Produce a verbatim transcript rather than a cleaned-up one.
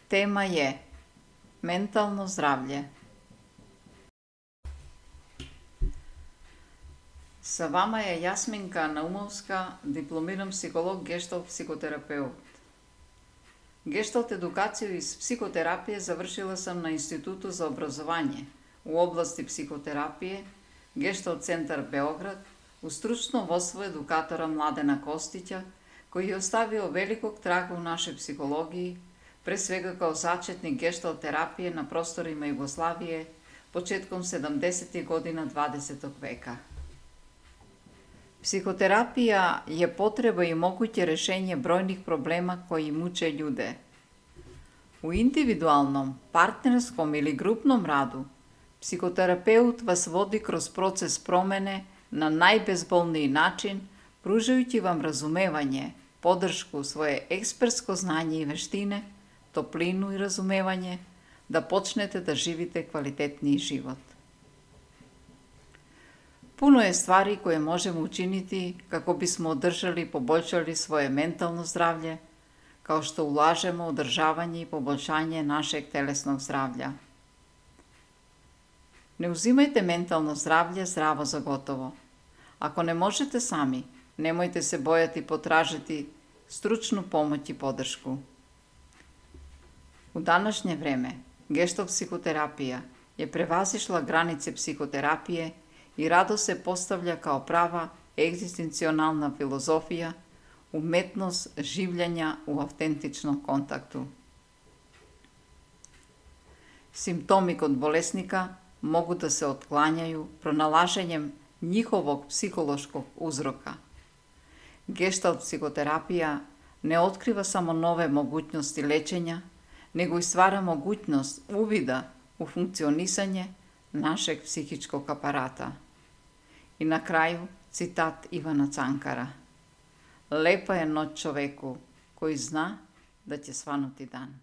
Tema je mentalno zdravlje. Sa vama je Jasminka Naumovska, diplomiran psiholog, gestalt psihoterapeut. Gestalt edukaciju iz psihoterapije završila sam na Institutu za obrazovanje u oblasti psihoterapije, Gestalt centar Beograd, u stručno vodstvo edukatora Mladena Kostića, koji je ostavio velikog traga u našoj psihologiji, pre svega kao začetnik gestalt terapije na prostorima Jugoslavije početkom sedamdesetih godina dvadesetog veka. Psihoterapija je potreba i moguće rešenje brojnih problema koji muče ljude. U individualnom, partnerskom ili grupnom radu, psihoterapeut vas vodi kroz proces promene na najbezbolniji način, pružajući vam razumevanje, podršku, svoje ekspertsko znanje i veštine, toplinu i razumevanje, da počnete da živite kvalitetniji život. Puno je stvari koje možemo učiniti kako bismo održali i poboljšali svoje mentalno zdravlje, kao što ulažemo u održavanje i poboljšanje našeg telesnog zdravlja. Ne uzimajte mentalno zdravlje zdravo za gotovo. Ako ne možete sami, nemojte se bojati potražiti stručnu pomoć i podršku. U današnje vreme, gestalt psihoterapija je prevazišla granice psihoterapije i rado se postavlja kao prava egzistencionalna filozofija, umetnost življenja u autentičnom kontaktu. Simptomi kod bolesnika mogu da se otklanjaju pronalaženjem njihovog psihološkog uzroka. Gestalt psihoterapija ne otkriva samo nove mogućnosti lečenja, nego i stvara mogućnost uvida u funkcionisanje našeg psihičkog aparata. I na kraju citat Ivana Cankara. Lepa je noć čoveku koji zna da će svanuti dan.